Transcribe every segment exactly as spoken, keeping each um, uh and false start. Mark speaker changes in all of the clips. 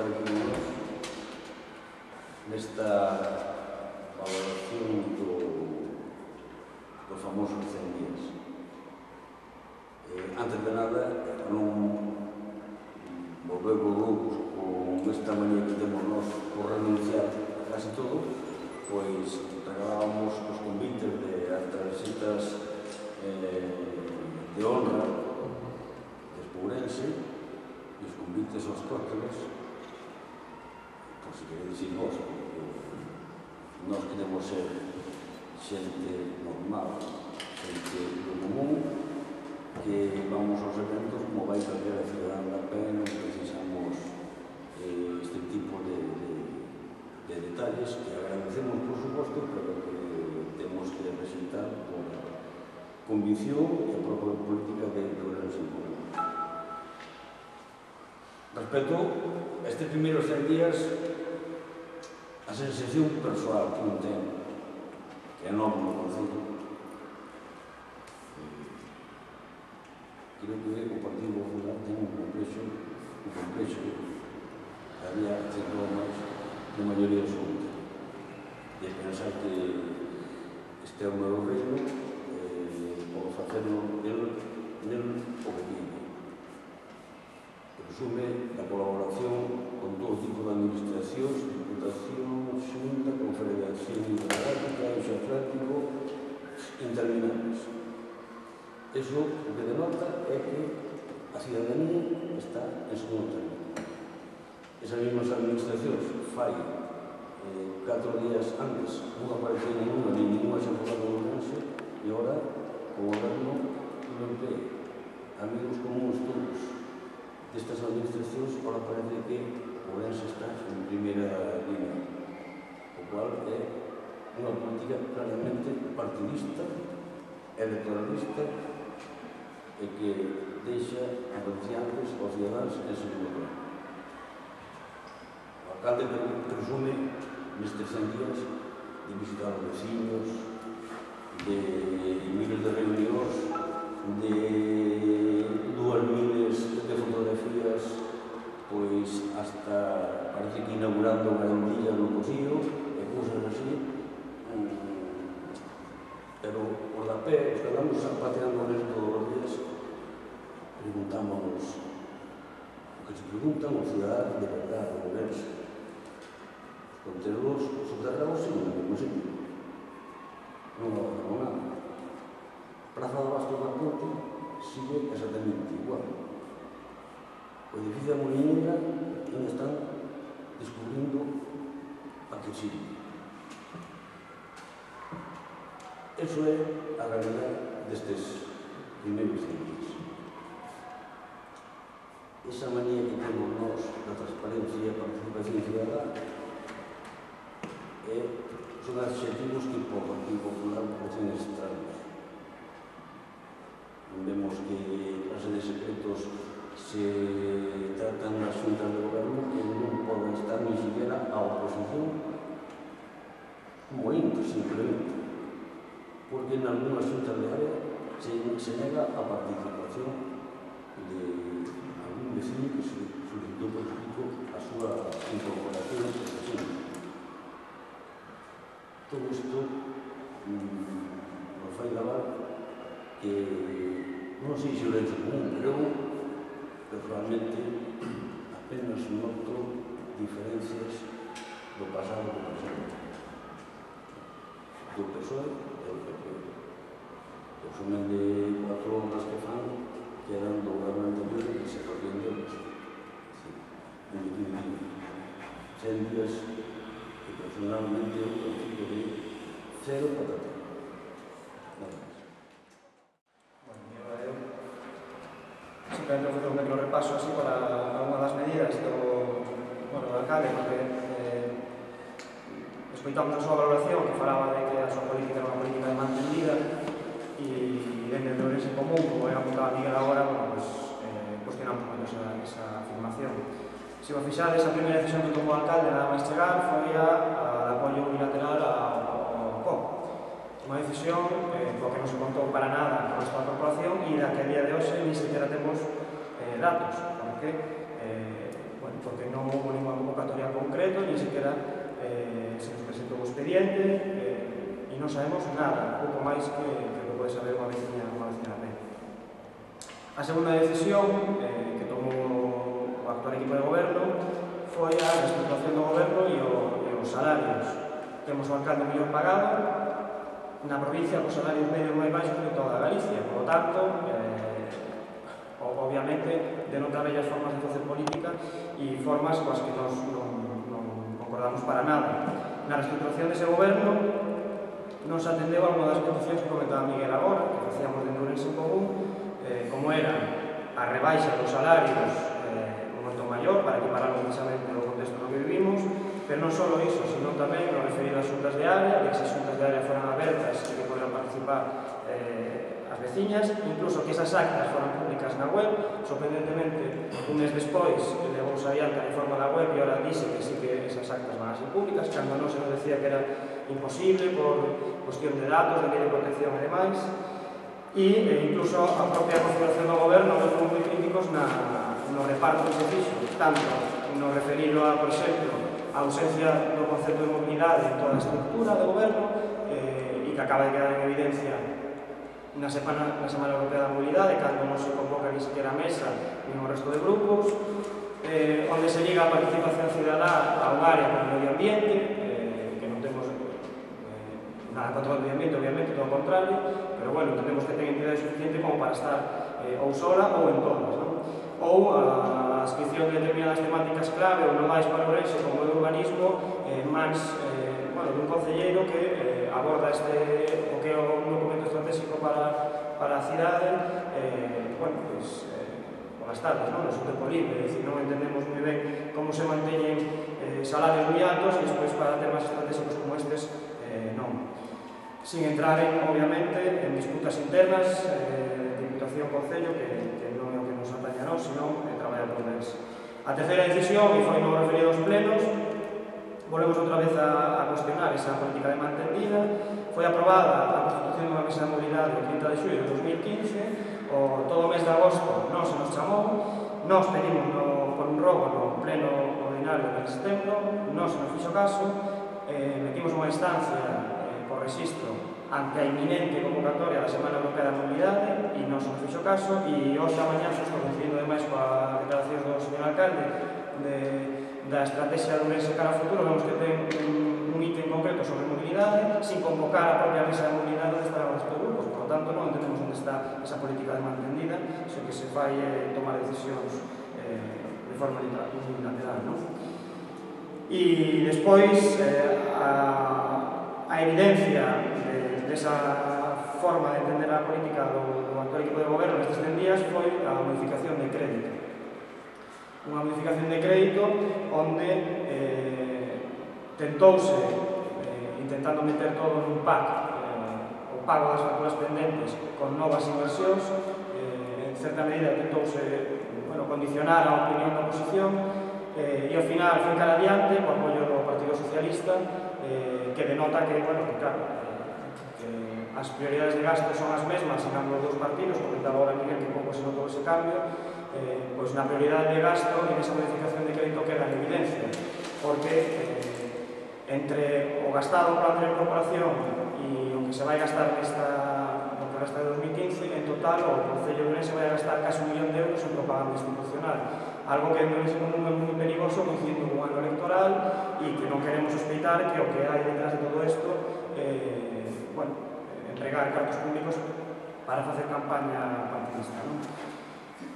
Speaker 1: estar aquí con nós nesta valoración do, do famoso cen días. Eh, antes de nada, para non volver locos con esta manía que temos nós por renunciar a casi todo, pois regalábamos os convites de as tarxetas eh, de honra de Espourense e os convites aos cócteles, por se queredes ir vos, porque nós queremos ser xente normal, xente do común, que vamos aos eventos como vai calquera cidadán da pé, non precisamos eh, este tipo de, de, de detalles que agradecemos, por suposto, pero que temos que representar por convicción e a propia política de Ourense en común. Respecto a estes primeiros cen días, a sensación persoal que non ten, que é novo no concello, creo que o Partido Popular ten un complexo, un complexo que había síntomas de maioría absoluta, de pensar que este é o meu reino, eh, por facerlo el, nel o que vive. Presume da colaboración con todo tipo de administracións, Diputación, Xunta, Confederación Hidrográfica, Eixo Atlántico, interminables. Eso o que denota é que a cidadanía está en segundo término. Esas mesmas administracións fai eh, catro días antes non aparecía ninguna, ni ninguna xafogada de Ourense, e agora o goberno non ve amigos comuns todos destas administracións, agora parece que Ourense está en primeira línea, o cual é unha política claramente partidista, electoralista, e que deixa anunciantes aos cidadáns en segundo plano. O alcalde presume nestes cen días de visitar os veciños, de miles de reunións, de dúas miles de fotografías, pois hasta parece que inaugurando garantilla no Cosío e cousas así. Pero por la pé, os que andamos pateando nesto todos os días, preguntámonos o que se preguntan os ciudadanos de verdade, de Ourense. Os contenedores subterráneos siguen no mesmo sitio. Non avanzamos nada. Praza de Bastos da Ponte sigue exactamente igual. O edificio da Moliñeira non están descubrindo a que sirve. Eso é a realidade destes primeiros cen días. Esa manía que temos nós da transparencia e a participación cidadá son adxetivos que por Partido Popular parecen extraños. Vemos que clase de secretos se tratan nas xuntas de goberno que non poden estar ni siquiera a oposición como ínter, simplemente, porque en algunhas xuntas de área se, se nega a participación de algún vecino que se solicitó por escrito a súa incorporación a esta xunta. Todo isto mmm, nos fai lavar que non sei se o lenzo común, pero personalmente apenas noto diferencias do pasado do presente, do P S O E e do P P. O sumen de cuatro horas que fan que eran do goberno anterior que se corrían deles. En definitiva, cen días que personalmente eu consigo de cero patata. Nada máis.
Speaker 2: Simplemente vou facer un pequeno repaso así para alguna das medidas do, bueno, do alcalde, porque eh, escoitamos a súa valoración que falaba de que a súa política era unha política de mantendida e dende de Ourense en común, como ben apuntaba Miguel agora, bueno, pues, eh, cuestionamos moito esa, esa afirmación. Se o fixades, a primeira decisión que tomou o alcalde nada máis chegar foi a, a de apoio unilateral ao C O P. Unha decisión eh, coa que non se contou para nada con esta corporación e da que a día de hoxe ni sequera temos eh, datos, porque eh, bueno, bueno, porque non houve ninguna convocatoria concreto, ni siquiera eh, se nos presentou o expediente, eh, e non sabemos nada, pouco máis que, que lo pode saber unha veciña, unha veciña de. A segunda decisión eh, que tomou o actual equipo de goberno foi a reestruturación do goberno e, o, e os salarios. Temos o alcalde mellor pagado na provincia cos salarios medios máis baixos de toda Galicia. Por lo tanto, eh, obviamente, denota bellas formas de facer política e formas coas que nos non, non concordamos para nada. Na reestruturación dese goberno non se atendeu a unha das peticións que comentaba Miguel agora, que facíamos de Ourense en común, eh, como era a rebaixa dos salarios eh, un montón maior para equipararlo precisamente no contexto no que vivimos, pero non só iso, sino tamén no referido ás xuntas de área, de que esas xuntas de área foran abertas e que poderan participar eh, as veciñas, incluso que esas actas foran públicas na web. Sorprendentemente, un mes despois, levouse adiante a reforma da web e ahora dice que sí que esas actas van a ser públicas, cando non se nos decía que era imposible por cuestión de datos, de lei de protección e demais. E eh, incluso a propia configuración do goberno nos fomos moi críticos na, no reparto que se fixo, tanto no referido a, por exemplo, a ausencia do concepto de mobilidade en toda a estructura do goberno eh, e que acaba de quedar en evidencia na Semana, na Semana Europea da Mobilidade, cando non se convoca ni sequera a mesa ni o resto de grupos, eh, onde se liga a participación cidadá a un área como o medio ambiente, eh, que non temos eh, nada contra o medio ambiente, obviamente, todo o contrario, pero bueno, entendemos que ten entidade suficiente como para estar eh, ou sola ou en todas, non? Ou a inscripción de determinadas temáticas clave ou non máis para Ourense como o urbanismo eh, máis eh, bueno, dun concelleiro que eh, aborda este, o que é un documento estratégico para, para a cidade eh, bueno, pues, eh, polas tardes, non? No seu tempo libre, é dicir, non entendemos moi ben como se manteñen eh, salarios moi altos e despois para temas estratégicos como estes eh, non. Sin entrar en, obviamente, en disputas internas eh, de Diputación-Concello que, que non é o que nos ataña a nós, senón eh, traballar por eles. A terceira decisión, e foi no referido aos plenos, volvemos outra vez a, a cuestionar esa política de mantendida. Foi aprobada a constitución dunha mesa de mobilidade o trinta de xullo de dos mil quince, o todo o mes de agosto non se nos chamou, nós pedimos no, por un robo no pleno ordinario del setembro, non se nos fixo caso, eh, metimos unha instancia por registro ante a inminente convocatoria da Semana Europea da Mobilidade e non se nos fixo caso, e hoxe a mañá se estou coincidindo demais coa declaración do señor alcalde de, da estrategia de Ourense cara ao futuro. Vemos que ten un, un ítem concreto sobre mobilidade sin convocar a propia mesa de mobilidade onde estarán os grupos, por lo tanto non entendemos onde está esa política de mantendida, só que se fai eh, tomar decisións eh, de forma unilateral, non? E despois eh, a a evidencia de, de esa forma de entender a política do, do actual equipo de goberno nestes cen días foi a modificación de crédito. Unha modificación de crédito onde eh, tentouse, eh, intentando meter todo nun pack, eh, o pago das facturas pendentes con novas inversións, eh, en certa medida tentouse bueno, condicionar a opinión da oposición, eh, e ao final foi cara adiante, co apoio do Partido Socialista, eh, que denota que, bueno, que claro, eh, que as prioridades de gasto son as mesmas en ambos os partidos, comentaba ahora Miguel que pouco se notou ese cambio, eh, pois na prioridade de gasto en esa modificación de crédito queda en evidencia, porque eh, entre o gastado para a anterior corporación e o que se vai gastar nesta, no que gasta de dos mil quince, en total o Concello de Ourense vai gastar casi un millón de euros en propaganda institucional, algo que non é moi perigoso coincidindo con un ano electoral e que non queremos sospeitar que o que hai detrás de todo isto eh, bueno, entregar cartos públicos para facer campaña partidista, non?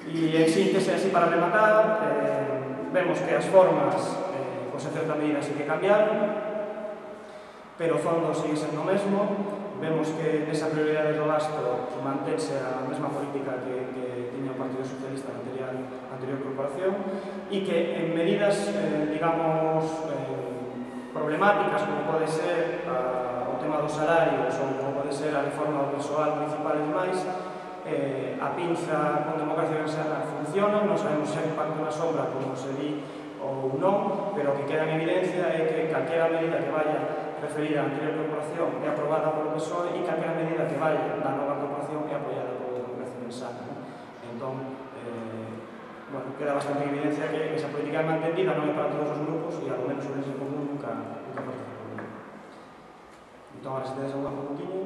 Speaker 2: E en síntese, así para rematar, eh, vemos que as formas eh, pois en certa medida sí que cambiaron, pero o fondo sigue sendo o mesmo. Vemos que nesa prioridade do gasto mantense a mesma política que, que tiña o Partido Socialista na anterior, anterior corporación, e que en medidas, eh, digamos, eh, problemáticas, como pode ser a, o tema dos salarios ou como pode ser a reforma do persoal municipal e demais, eh, a pinza con democracia cristiana funciona, non sabemos se hai impacto na sombra como se di ou non, pero o que queda en evidencia é que calquera medida que vaya referida á anterior corporación é aprobada polo P S O E e calquera medida que vaya da nova corporación é apoiada polo Democracia Cristiana. Entón, eh, bueno, queda bastante en evidencia que esa política de mantendida non é para todos os grupos e ao menos sobre ese común nunca, nunca participou. Entón, ahora se tedes algún puntiño.